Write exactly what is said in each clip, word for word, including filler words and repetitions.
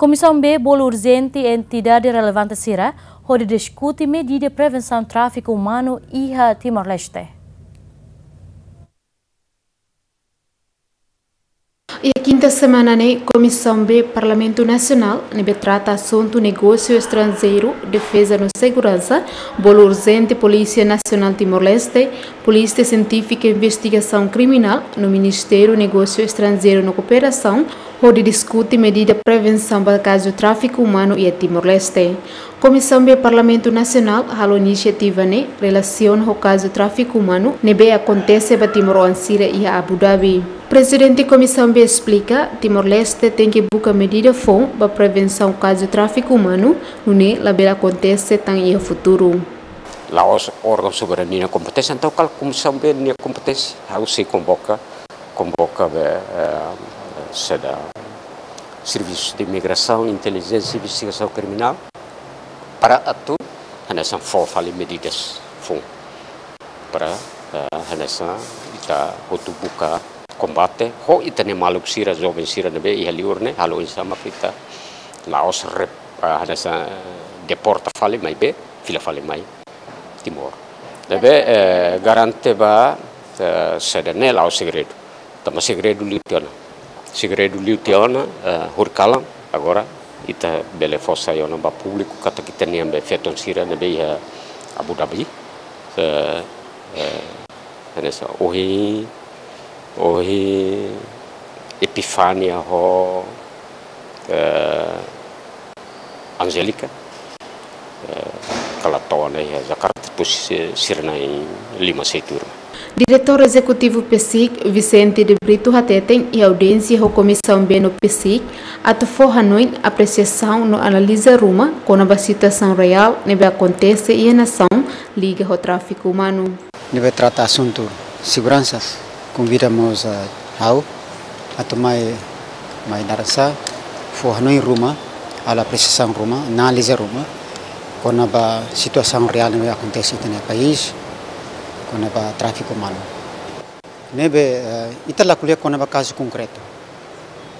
Komisaun B bolu urjente entidade relevante sira hodi diskute medida prevensaun tráfiku umanu iha Timor-Leste. Iha kinta semana ne'e, Komisaun B Parlamentu Nasionál ne'ebé trata asuntu negósiu estranjeiru, defeza no seguransa bolu urjente Polísia Nasionál Timor-Leste, Polísia Sientífika Investigasaun Kriminál no Ministériu Negósiu Estranjeiru no Kooperasaun hodi diskute medida prevensaun ba kazu tráfiku umanu iha Timor-Leste. Komisaun B Parlamentu Nasionál halo inisiativa ne'e relasiona ho kazu tráfiku umanu ne'ebé akontese ba timoroan sira iha Abu Dhabi. Prezidente Komisaun B esplika, Timor-Leste tenke buka medida foun ba prevensaun kazu tráfiku umanu, nune'e labele akontese tan iha futuru. La'ós órgaun soberania nia kompeténsia, entaun kala Komisaun B nia kompeténsia, ha'u sei konvoka, konvoka be, eh, saida, servisu de imigrasaun, intelijénsia, investigasaun kriminál, para atu hanesan fó fali medidas foun. Para, eh, hanesan ita hotu buka kombate ho ita-nia maluk sira, joven sira ne'ebé iha liur ne'e, halo oinsá mak ita la'ós rep-, eh, hanesan, eh, deporta fali maibé fila fali mai Timor. Ne'ebé, eh, garante ba, eh, saida ne'e la'ós segredu. Tanba segredu liu tiha ona. Segredu liu tiha ona, eh, horikalan, agora ita bele fó sai ona ba públiku katak ita-nian be feton sira ne'ebé iha Abu Dhabi. Eh, eh, hanesan ohin, ohin Epifania ho, eh, Angélica, eh, kala to'o ona iha Jakarta, depois, eh, sira na'in lima sei tuur. Diretór Ezekutivu PCIC, Vicente de Brito hateten iha audiénsia ho Komisaun B no PCIC, atu fó hanoin, apresiasaun no analiza ruma kona-ba situasaun reál ne'ebé akontese iha nasaun liga ho tráfiku umanu. Ne'ebé trata asuntu seguransa, konvida mós, eh, ha'u atu mai, mai dara sa, fó hanoin ruma, halo apresiasaun ruma, analiza ruma kona-ba situasaun reál ne'ebé akontese iha ita-nia país, kona-ba tráfiku umanu. Ne'ebé, eh, ita la ko'alia kona-ba kazu konkretu.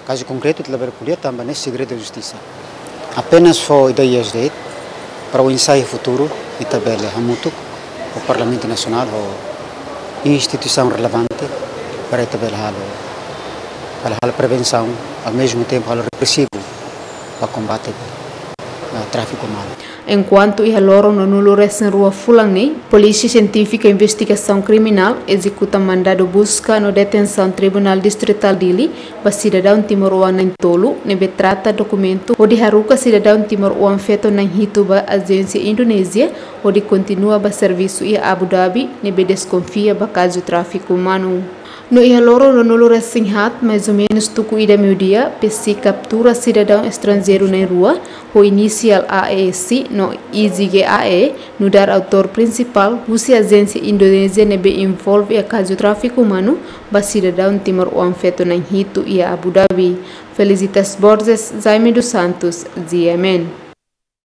Kazu konkretu ita labele ko'alia tanba ne'e segredu justisa. Apenas fó ideias de'it para oinsá iha futuru ita bele hamutuk ho Parlamentu Nasionál, ho instituisaun relevante para ita bele halo, bele halo prevensaun, ao mesmo tempo halo represivu ba kombate, eh, tráfiku umanu. Enkuantu iha loron ruanulu-resin-rua fulan ne'e, Polísia Sientífika Investigasaun Kriminál ezekuta mandadu buska no detensaun Tribunál Distritál Dili ba sidadaun timoroan na'in-tolu ne'ebé trata dokumentu hodi haruka sidadaun timoroan feto na'in-hitu ba ajénsia Indonézia hodi kontinua ba servisu iha Abu Dhabi ne'ebé deskonfia ba kazu tráfiku umanu. No iha loron ruanulu-resin-haat, mais ou menus tuku ida meiudia, PCIC kaptura sidadaun estranjeiru na'in-rua, ho inisiál A E S no I J G A E, nu'udar autór prinsipál, husi ajénsia Indonézia ne'ebé envolve iha kazu tráfiku umanu ba sidadaun timoroan feto na'in-hitu iha Abu Dhabi. Felicitas Borges, Jaime dos Santos, G M N.